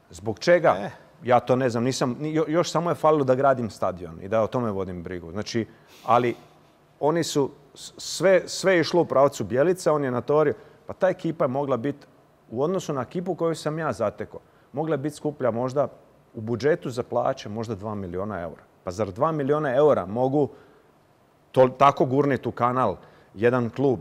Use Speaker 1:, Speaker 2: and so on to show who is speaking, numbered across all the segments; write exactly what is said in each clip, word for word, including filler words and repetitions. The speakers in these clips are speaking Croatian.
Speaker 1: Zbog čega?
Speaker 2: E.
Speaker 1: Ja to ne znam. Nisam, još samo je falilo da gradim stadion i da o tome vodim brigu. Znači, ali oni su, sve, sve je išlo u pravcu Bjelica, on je natorio. Pa ta ekipa je mogla biti, u odnosu na ekipu koju sam ja zatekao, mogla je biti skuplja možda u budžetu za plaće možda dva miliona eura. Pa zar dva miliona eura mogu to, tako gurniti u kanal jedan klub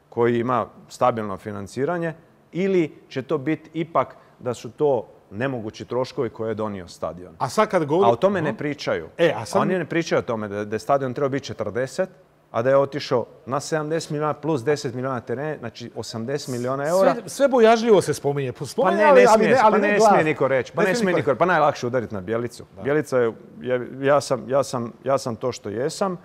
Speaker 1: koji ima stabilno financiranje ili će to biti ipak da su to nemogući troškovi koje je donio stadion.
Speaker 2: A sad kad govori...
Speaker 1: A o tome ne pričaju.
Speaker 2: E, a sad...
Speaker 1: Oni ne pričaju o tome da, da je stadion trebao biti četrdeset, a da je otišao na sedamdeset milijuna plus deset milijuna terena, znači osamdeset milijuna eura.
Speaker 2: Sve, sve bojažljivo se spominje.
Speaker 1: Pa ne, ne smije, pa ne smije niko reći. Pa ne smije niko reći. Pa najlakše udariti na Bjelicu.
Speaker 2: Da.
Speaker 1: Bjelica je, ja sam, ja, sam, ja sam to što jesam.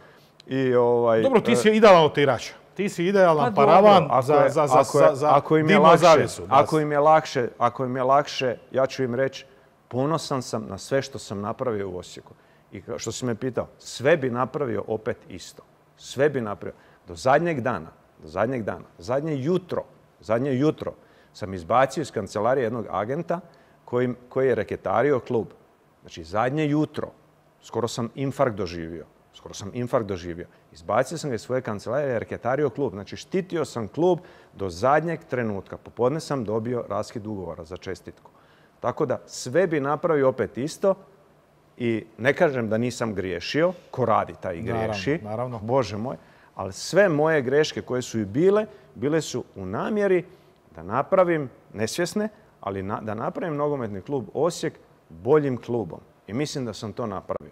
Speaker 1: I ovaj,
Speaker 2: dobro, ti si idealan otirač. Ti si idealan pa paravan
Speaker 1: ako
Speaker 2: za,
Speaker 1: je,
Speaker 2: za, za,
Speaker 1: ako je,
Speaker 2: za
Speaker 1: ako im je lakše, zavjesu. Ako im je lakše, ako im je lakše, ja ću im reći, ponosan sam na sve što sam napravio u Osijeku. I što si me pitao, sve bi napravio opet isto. Sve bi napravio. Do zadnjeg dana, do zadnjeg dana, zadnje jutro, zadnje jutro sam izbacio iz kancelarije jednog agenta koji, koji je reketario klub. Znači, zadnje jutro, skoro sam infarkt doživio. Skoro sam infarkt doživio. Izbacio sam ga iz svoje kancelarije i reketario klub. Znači, štitio sam klub do zadnjeg trenutka. Popodne sam dobio raskid ugovora za čestitku. Tako da sve bi napravio opet isto i ne kažem da nisam griješio. Ko radi, taj i griješi.
Speaker 2: Naravno, naravno.
Speaker 1: Bože moj. Ali sve moje greške koje su i bile, bile su u namjeri da napravim, nesvjesne, ali na, da napravim nogometni klub Osijek boljim klubom. I mislim da sam to napravio.